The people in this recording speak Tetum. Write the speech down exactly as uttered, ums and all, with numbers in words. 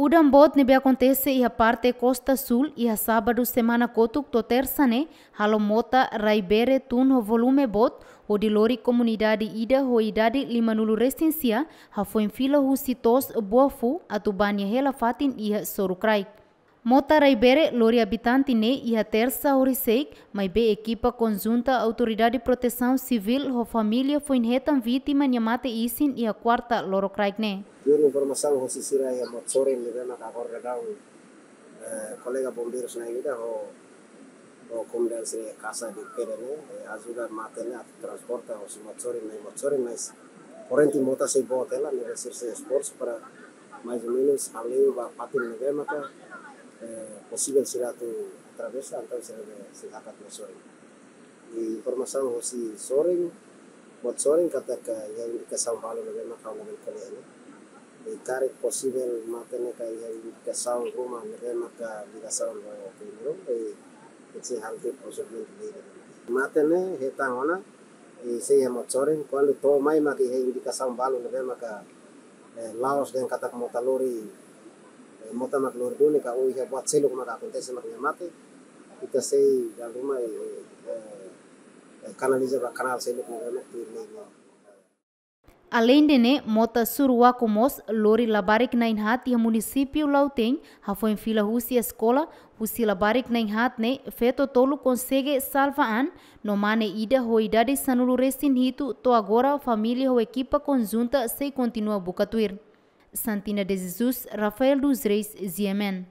Udan boot ne'ebé akontese iha parte Kosta Súl iha sábadu semana kotuk to'o tersa ne'e, halo mota rai bere tun ho volume boot, hodi lori komunidade ida ho idade limanulu resin sia, hafoin fila husi to'os Buafu atu bá nia hela fatin iha Sorukraik. Mota rai bere lori abitante ne'e iha tersa horisehik, maibé ekipa konjunta Autoridade Protesaun Sivíl ho família foin hetan vítima nia mate isin iha kuarta lorokraik ne'e. Tuir informasaun hosi sira iha Motsorin ne'ebé maka agora daudaun, eh, kolega bombeirus na'in ida ho, ho komunidade sira iha Casa de Pedra ne'e, eh, ajuda mate ne'e atu transporta hosi Motsorin mai Motsorin, mas korrente mota sei boot hela, ne'ebé sira sei esforsu para mais ou menus hale'u ba fatin ne'ebé maka, eh, posivel sira atu atravesa, entaun sira be sei hakat Motsorin. I informasaun hosi Sorin, Motsorin katak iha indikasaun balu ne'ebé maka ha'u labele ko'alia hela. I karik posivel mate ne'e ka iha indikasaun ruma ne'ebé maka ligasaun ho primeiru, i ita sei halo de'it prosedimentu ne'e. Mate ne'e hetan ona, i sei iha Motsorin, kuandu to'o mai maka iha indikasaun balu ne'ebé maka, eh, la'ós dehan katak mota lori, eh, mota mak lori duni ka ou iha buat seluk maka akontese mak nia mate, ita sei dala ruma, eh, eh, eh, kanaliza ba kanál seluk ne'ebé mak tuir lei nian. Aleinde ne'e, mota Suruaku mós lori labarik na'in haat iha munisípiu Lautein, hafoin fila husi eskola, husi labarik na'in haat ne'e, feto tolu konsege salva an, no mane ida ho idade sanulu resin hitu to'o agora família ho ekipa konjunta sei kontinua buka tuir. Santina de Jesus, Rafael dos Reis, G M N.